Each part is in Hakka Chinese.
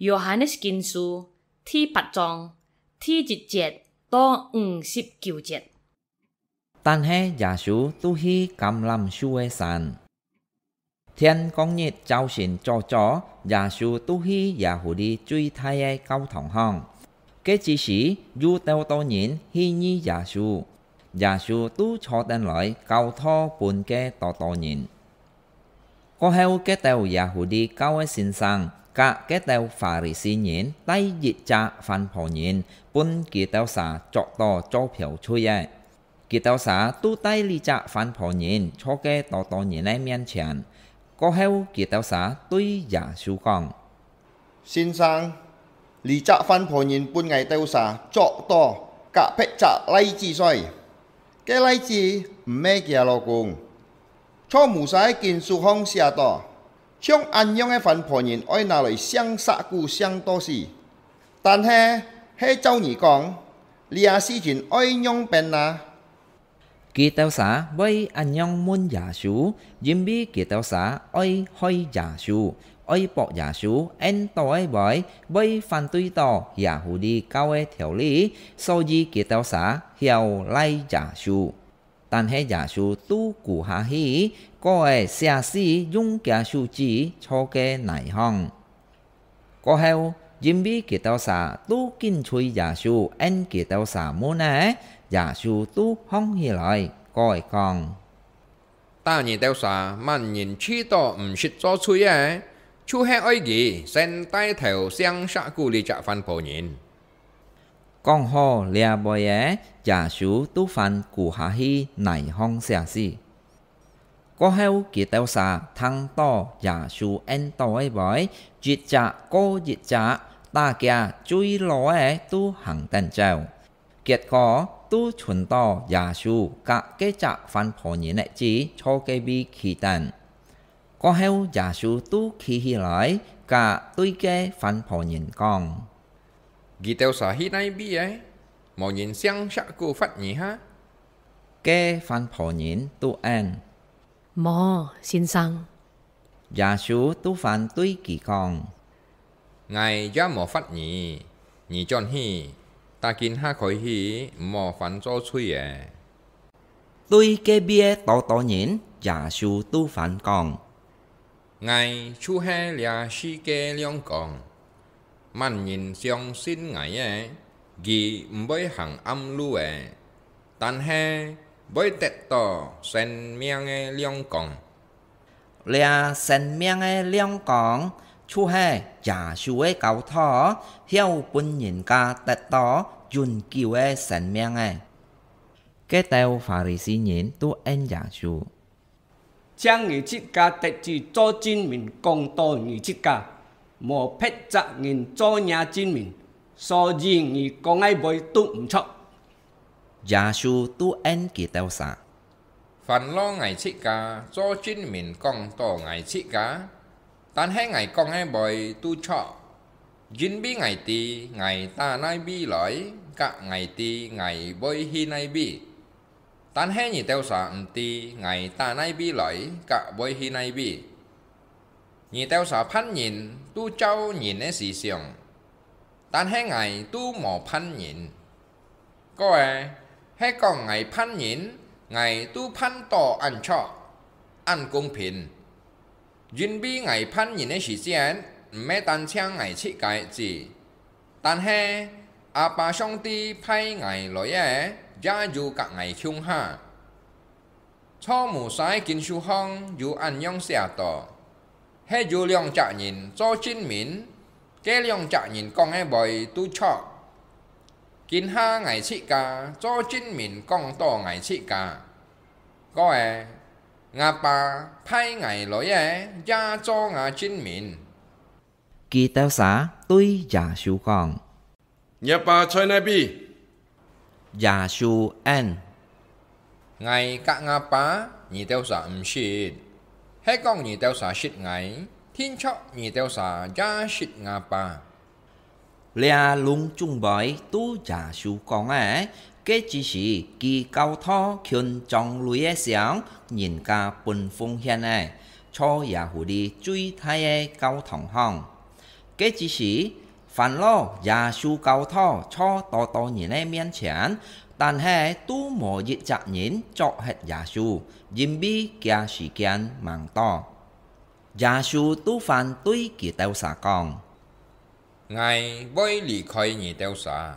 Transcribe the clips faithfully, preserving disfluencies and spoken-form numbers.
Yohanes Kinsu第八章第一節到五十九節。但係耶穌都去橄欖樹个山。天光日朝晨早早，耶穌都去耶戶利最大个教堂項。該之時，有兜多人去遇耶穌，耶穌都坐等來教導分該多多人。 過後，該兜耶戶利教个先生，佮該兜法利賽人帶一隻番婆人，分佢兜儕捉到做標罪个。佢兜儕都帶這隻番婆人坐該多多人个面前。過後，佢兜儕對耶穌講：「先生，這隻番婆人分𠊎兜儕捉到佮別隻倈子睡。該倈子毋係佢个老公。 在Moses个經書項寫到，像恁樣个番婆人愛拿來㧐石牯㧐到死。但係，係照你講，這事情愛仰般啊？」佢兜儕會恁樣問耶穌，因為佢兜儕愛害耶穌，愛駁耶穌，應著个話會反對到耶戶利教个條例，所以佢兜儕曉賴耶穌。 但係耶穌都跍下去，過仔寫字用厥手指在該泥項。過後，因為佢兜儕都緊催耶穌應佢兜儕問个，耶穌都䟘起來，過仔講：「打你兜儕，麼人試著毋識做罪个，就係愛佢先帶頭㧐石牯這隻番婆人。」 講好這話仔，耶穌都還跍下去泥項寫字。過後，佢兜儕聽著耶穌應著个話，一隻過一隻，打厥最老个都行等走。結果，都伸著耶穌佮該隻番婆人个子在該位企等。 過後，耶穌都企起來，佮對該番婆人講：「你兜儕去哪位仔？無人㧐石牯罰你哈？」該番婆人都應：「無，先生。」耶穌都還對佢講： 「𠊎也無罰你，你轉去，打今下開始，毋好還做罪仔。」對該位个多多人，耶穌都還講：「𠊎就係這世界个亮光。麼人相信𠊎个，佢毋會行暗路仔，但係會得著生命个亮光。」 這生命个亮光，就係耶穌个教導，曉分人家得著永久个生命仔。該兜法利賽人都應耶穌：「淨你自家得主做證明講到你自家，無別隻人做若證明，所以你講个話都毋著。」耶穌都應佢兜儕： 「還摎𠊎自家做證明講到𠊎自家，但係𠊎講个話都著，因為𠊎知𠊎打哪位來，佮𠊎知𠊎會去哪位。但係你兜儕毋知𠊎打哪位來，佮會去哪位。你兜儕判人，都照人个思想， 但係𠊎都無判人。過仔，係講𠊎判人，𠊎都判到恁著、恁公平。因為𠊎判人个時節，毋係單淨𠊎自家知，但係阿爸上帝派𠊎來个，也有佮𠊎共下。」 在Moses个經書項有恁樣寫到：「係有兩隻人做證明，該兩隻人講个話都著。今下𠊎自家做證明講到𠊎自家。過仔，吾爸派𠊎來个也做吾證明。」佢兜儕對耶穌講： 「若爸在哪位？」耶穌應：「𠊎佮吾爸，你兜儕毋識。係講你兜儕識𠊎，定著你兜儕也識吾爸。」這攏總會都耶穌講个，該之時佢教導群長類个想，人家分奉獻个，在耶戶利最大个教堂項。該之時，Farao Yâ-sû教徒坐多多人个面前，但係都無一隻人捉核Yâ-sû，因為厥時間吂到。Yâ-sû都還對佢兜儕講：「𠊎會離開你兜儕，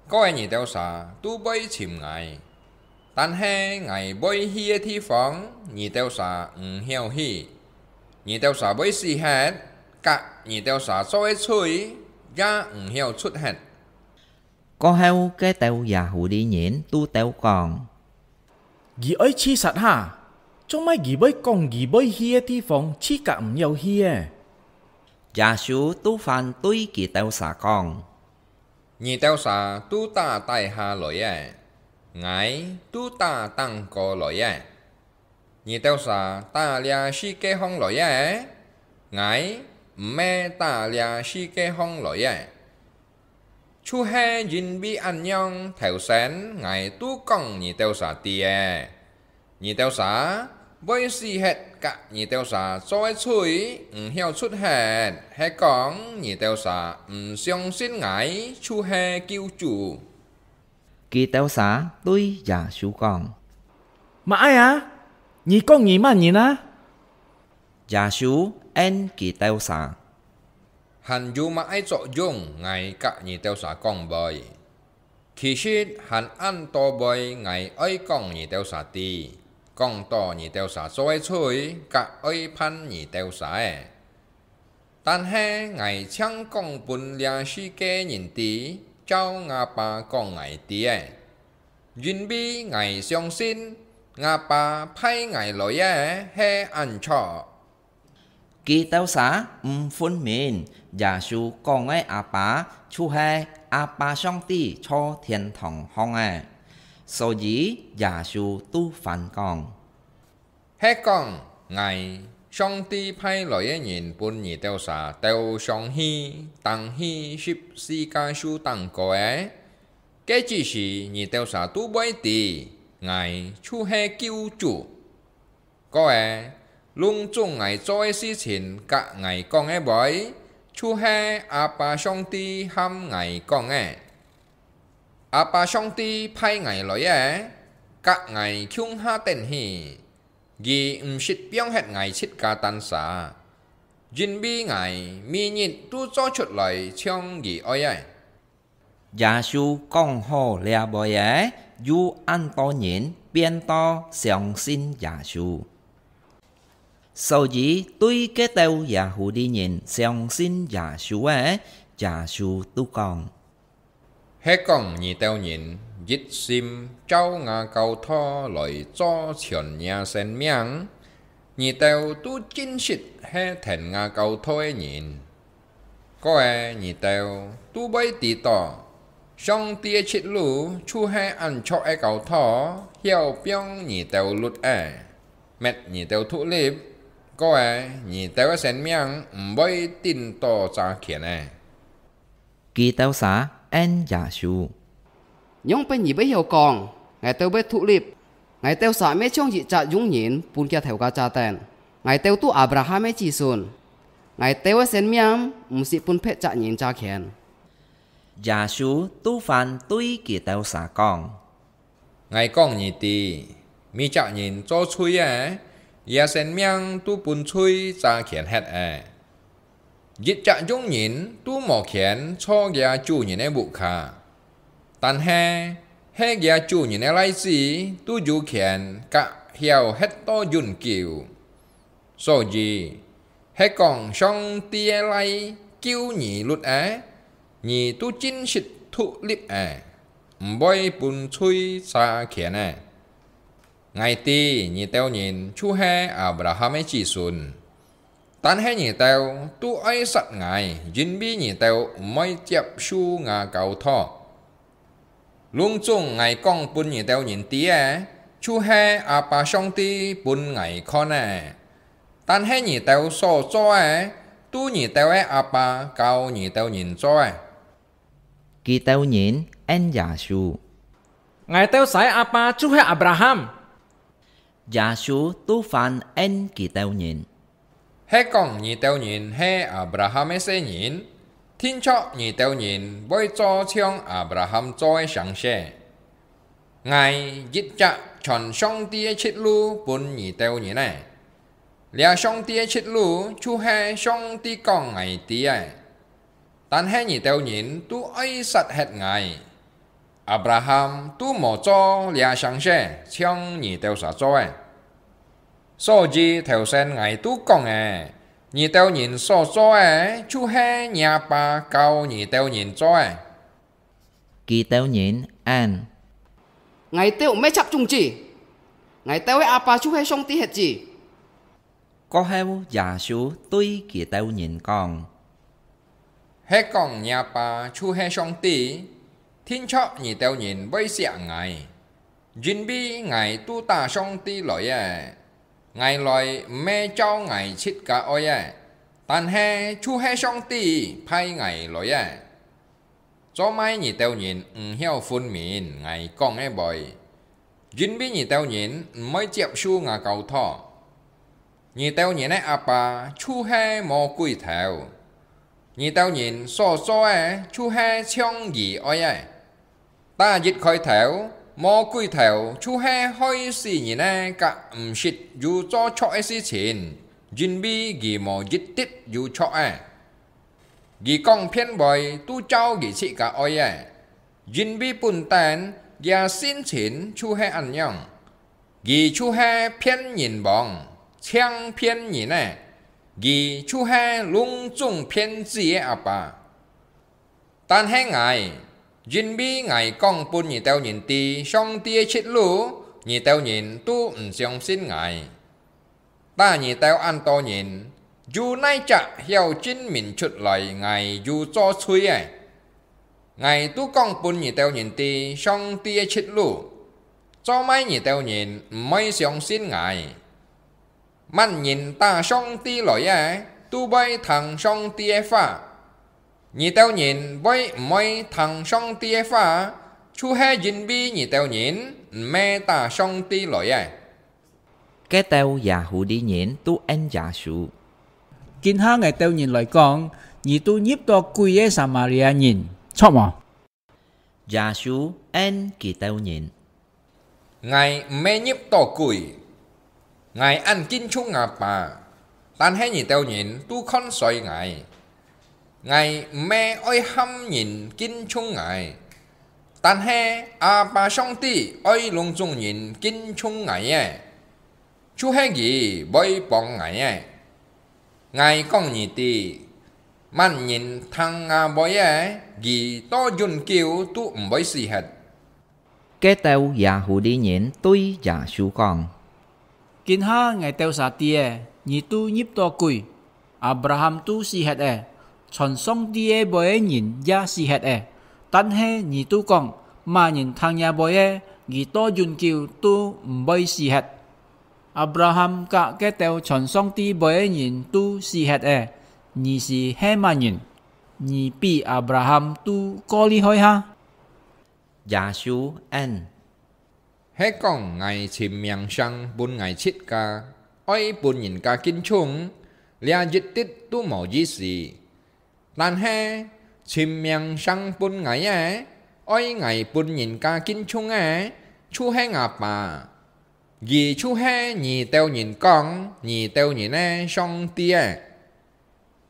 過你兜儕都會尋𠊎。但係𠊎會去个地方，你兜儕毋曉去。你兜儕會死忒，甲你兜儕做个罪也毋曉除忒。」過後，該兜Yahudi人都兜講：「佢愛自殺哈！做麼佢會講佢會去个地方自家毋曉去呢？」Yâ-sû都還對佢兜儕講：「你兜儕都打底下來个，𠊎都打頂高來个。你兜儕打這世界項來个，𠊎毋係打這世界項來个。」就係因為恁樣，頭先𠊎都講你兜儕知个，你兜儕會死忒甲你兜儕做个罪毋曉除忒，係講你兜儕毋相信𠊎就係救主。佢兜儕對Yâ-sû講：「麼个啊？你講你麼人啊？」Yâ-sû應佢兜儕：「還有麼个作用𠊎甲你兜儕講會？其實還恁多會𠊎愛講你兜儕知，講到你兜儕做个罪，甲愛判你兜儕个。但係𠊎淨講分這世界人知，照吾爸講𠊎知个，因為𠊎相信吾爸派𠊎來个係恁著。」佢兜儕毋分明，Yâ-sû講个阿爸就係阿爸上帝坐天堂項个。所以Yâ-sû都還講：「係講𠊎，上帝派來个人分你兜儕兜上去，釘去十字架樹頂高个，該之時你兜儕都會知，𠊎就係救主。」 過，攏總𠊎做个事情甲𠊎講个話，就係阿爸上帝喊𠊎講个。阿爸上帝派𠊎來个，甲𠊎共下等去，佢毋識放忒𠊎自家單儕，因為𠊎每日都做出來像佢愛个。 耶穌講好這話仔，有恁多人變到相信耶穌。所以對該兜Yahudi人相信耶穌个，耶穌都講：係講你兜人一心照吾教導來做全若生命，你兜都真實係聽吾教導个人。 過，你兜都會知到，上帝个出路就係恁著个教導，曉放你兜律仔，搣你兜獨立。過，你兜个生命毋會頂到遮權仔。佢兜儕應耶穌：仰般你會曉講：𠊎兜會獨立？𠊎兜儕乜像一隻羊人分厥頭家軋等。𠊎兜都Abraham个子孫， 𠊎兜个生命毋識分別隻人軋權。耶穌都還對佢兜儕講：𠊎講你知，每隻人做喙仔，厥生命都分喙軋權忒仔。一隻羊人都無權坐厥主人个屋下，但係，係厥主人个倈子都有權甲曉歇到永久。 所以，係講上帝个倈救你律仔，你都真實獨立仔，毋會分喙軋權仔。𠊎知你兜人就係Abraham个子孫，但係你兜都愛殺𠊎，因為你兜毋會接受吾教導。 攏總𠊎講分你兜人知个，就係阿爸上帝分𠊎看个。但係你兜所做个，都你兜个阿爸教你兜人做个。佢兜人應耶穌：𠊎兜儕个阿爸就係Abraham。 耶穌都還應佢兜人：係講你兜人係亞伯拉罕个細人，定著你兜人會做像亞伯拉罕做个成勢。 𠊎一直傳上帝个直路分你兜人呢。這上帝个直路就係上帝講𠊎知个。但係你兜人都愛殺忒𠊎。亞伯拉罕都無做這成勢像你兜儕做个。所以頭先𠊎都講个，你兜人所做个就係若爸教你兜人做个。 佢兜人應：「𠊎兜毋係插種子，𠊎兜个阿爸就係上帝个子。」過後，耶穌對佢兜人講：「係講若爸就係上帝，定著你兜人會惜𠊎，因為𠊎都打上帝來个。𠊎來毋係照𠊎自家愛个，但係就係上帝派𠊎來个。 做麼你兜人毋曉分明𠊎講个話？因為你兜人毋會接受𠊎教導。你兜人个阿爸就係魔鬼頭。你兜人所做个就係像佢愛个。打一開頭，魔鬼頭就係害死人个，甲毋識有做著个事情，因為佢無一滴有著个。 佢講騙話都照佢自家愛个，因為本等厥性情就係恁樣。佢就係騙人王，淨騙人个，佢就係攏總騙子个阿爸。但係𠊎，因為𠊎講分你兜人知上帝个直路，你兜人都毋相信𠊎。 打你兜恁多人，有哪隻曉證明出來𠊎有做罪个？𠊎都講分你兜人知上帝个直路，做麼你兜人毋會相信𠊎？麼人打上帝來个，都會聽上帝个話。你兜人會毋會聽上帝个話，就係因為你兜人毋係打上帝來个。 該兜耶戶利人都應耶穌：「今下𠊎兜人來講，你都入到鬼个撒馬利亞人，著無？」耶穌應佢兜人：「𠊎毋係入到鬼，𠊎恁敬重吾爸，但係你兜人都看衰𠊎。 𠊎毋係愛喊人敬重𠊎，但係阿爸上帝愛攏總人敬重𠊎个，就係佢會幫𠊎个。𠊎講你知，麼人聽吾話个，佢到永久都毋會死忒。」 該兜耶戶利人對耶穌講：「今下𠊎兜儕知仔，你都入到鬼！亞伯拉罕都死忒仔，傳上帝个話个人也死忒仔，但係你都講，麼人聽若話个，佢到永久都毋會死忒。亞伯拉罕佮該兜傳上帝話个人都死忒仔，你斯係麼人？你比亞伯拉罕都過厲害哈！」 耶穌應：「係講𠊎尋名聲分𠊎自家，愛分人家敬重，這一滴都無意思。但係尋名聲分𠊎个，愛𠊎分人家敬重个，就係吾爸。佢就係你兜人講你兜人个上帝仔。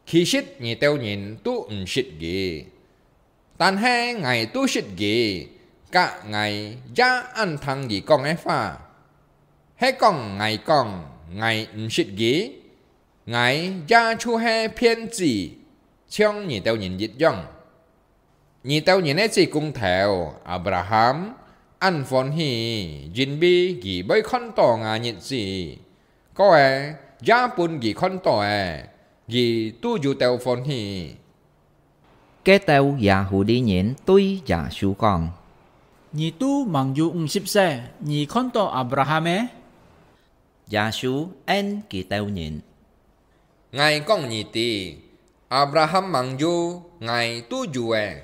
其實你兜人都毋識佢， 但係𠊎都識佢，佮𠊎也恁聽佢講个話。係講𠊎講𠊎毋識佢，𠊎也就係騙子，像你兜人一樣。你兜人个子公頭亞伯拉罕恁歡喜，因為佢會看到吾日子。過仔，也分佢看到仔，佢都有兜歡喜。」 該兜耶戶利人對耶穌講：「你都吂有五十歲，你看到亞伯拉罕咩？」耶穌應佢兜人：「𠊎講你知，亞伯拉罕吂有，𠊎都有仔。」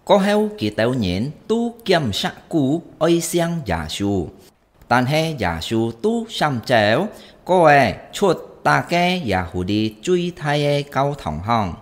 過後佢兜人都兼石牯愛承耶穌，但係耶穌都閃走，過仔出逐家也赴在最大个教堂項，